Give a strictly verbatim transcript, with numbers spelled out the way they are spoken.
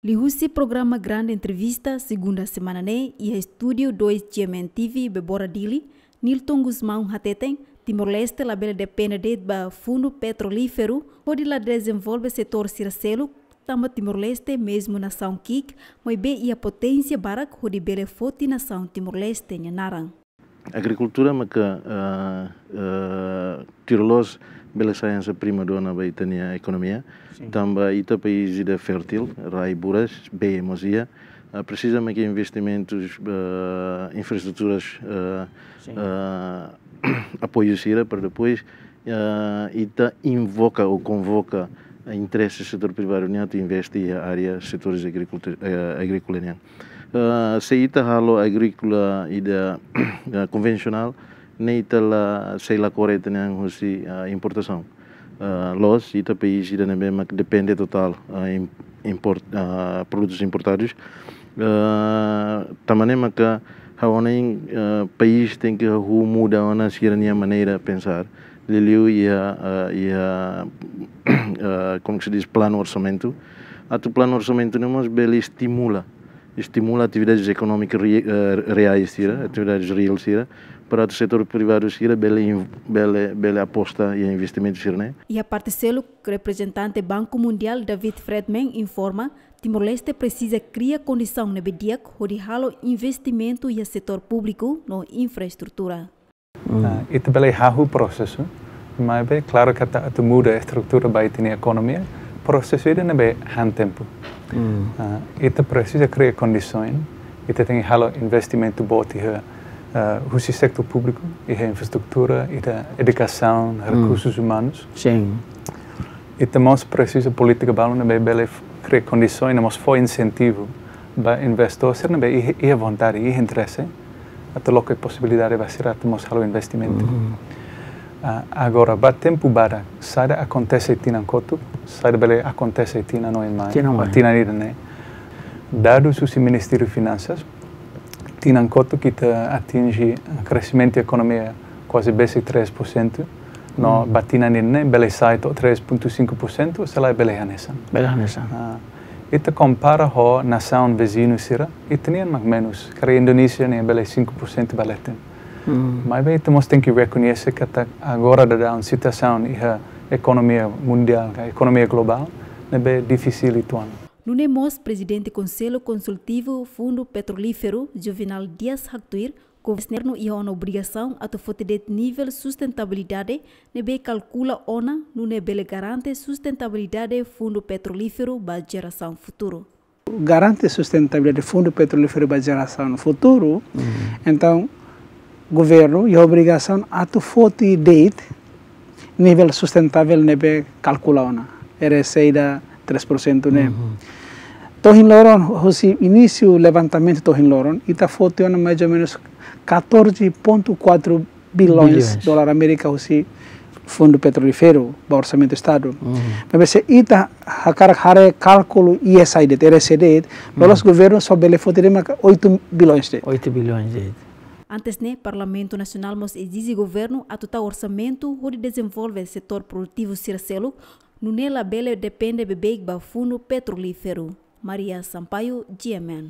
Liuhusi programa Grande Entrevista, segunda semana ne'e, iha estúdiu dois G M N T V, Bebora Dili, Nilton Gusmão hateten, Timor-Leste labele depende de'it ba fundu petrolíferu hodi la dezenvolve setór sira seluk, tanba Timor-Leste mezmu nasaun ki'ik, maibé iha poténsia barak hodi bele foti nasaun Timor-Leste nia naran. Agrikultura maka, ah, ah, tuir loos bele sai hanesan primadona ba ita-nia ekonomia. Sin. Tanba ita país ida fértil, rai buras, bee mós iha. Ah, presiza maka investimentus, ah, infraestruturas, ah, Sin. Ah, apoiu sira para depois, ah, ita invoka ou konvoka, ah, interese setór privadu nian atu investe iha área setores agrikultu-, eh, agríkola nian. Ah, se ita halo agríkola ida, ah, konvensionál, ne'e ita la sei la kore ita-nia an husi, ah, importasaun. Ah, loos, ita país ida ne'ebé mak depende totál, ah, im-, import-, ah, produtus importadus. Ah, tanba ne'e maka ha'u hanoin, ah, país tenke hahú muda ona sira-nia maneira pensar. Liuliu iha, ah, iha, ah, como que se diz, planu orsamentu. Atu planu orsamentu ne'e mós bele estimula, estimula atividades ekonómikas re-, eh, reais sira, atividades real sira, para atu setór privadu sira bele in-, bele, bele aposta iha investimentu sira-ne'e. Iha parte seluk, reprezentante Banku Mundiál David Friedman informa, Timor-Leste presiza kria kondisaun ne'ebé di'ak hodi halo investimentu iha setór públiku no infraestrutura. Mm. Ah, ita bele hahú prosesu, maibé klaru katak atu muda estrutura ba ita-nia ekonomia, prosesu ida ne'ebé han tempu. Mm. Ah, ita presiza kria kondisaun, ita tenke halo investimentu boot iha, ah, husi setór públiku, iha infraestrutura, iha edukasaun, Mm. rekursus umanus. Sin. Ita mós presiza polítika balun ne'ebé bele f-, kria kondisaun, ne'e mós fó insentivu ba investidór sira ne'ebé iha, iha vontade, iha interese, atu loke posibilidade ba sira atu mós halo investimentu. Mhm. Ah, agora, ba tempu badak, saida akontese tinan kotuk, saida bele akontese tinan oin mai, Tinan oin. tinan ida-ne'e. Dadus husi Ministériu Finansas, tinan kotuk ita atinje kreximentu ekonomia kuaze besik três por cento, no Hmm. ba tinan ida-ne'e bele sai to'o três ponto cinco por cento, se lae bele hanesan. Bele hanesan. Ah, ita kompara ho nasaun viziñu sira, ita-nian mak menus, karik Indonézia ne'e bele cinco por cento ba leten. Hmm. Maibé ita mós tenke rekoñese katak agora daudaun situasaun iha ekonomia mundiál, ka ekonomia globál, ne'ebé difisil uitoan. Nune'e mós Prezidente Konsellu Konsultivu Fundu Petrolíferu, Juvenal Dias haktuir, governu iha ona obrigasaun atu foti de'it nivel sustentabilidade ne'ebé kalkula ona, nune'e bele garante sustentabilidade fundu petrolíferu ba jerasaun futuru. Garante sustentabilidade fundu petrolíferu ba jerasaun futuru, Mhm. entaun, governu iha obrigasaun atu foti de'it nivel sustentável ne'ebé kalkula ona, era saida três por cento ne'e. Mhm. To'o ohin loron, husi inísiu levantamentu to'o ohin loron, ita foti ona mais ou menus catorze ponto quatro bilhões Bilhões. dólar Amérika husi fundu petrolíferu ba orsamentu Estadu. Mhm. Maibé se ita hakarak haree kálkulu E S I de'it, R S I de'it, loloos Mhm. governu só bele foti de'it maka oito bilhões de'it. Oito bilhões de'it. Antes ne'e, Parlamentu Nasionál mós ezije governu atu tau orsamentu hodi dezenvolve setór produtivu sira seluk, nune'e labele depende beibeik ba fundu petrolíferu. Maria Sampaio, G M N.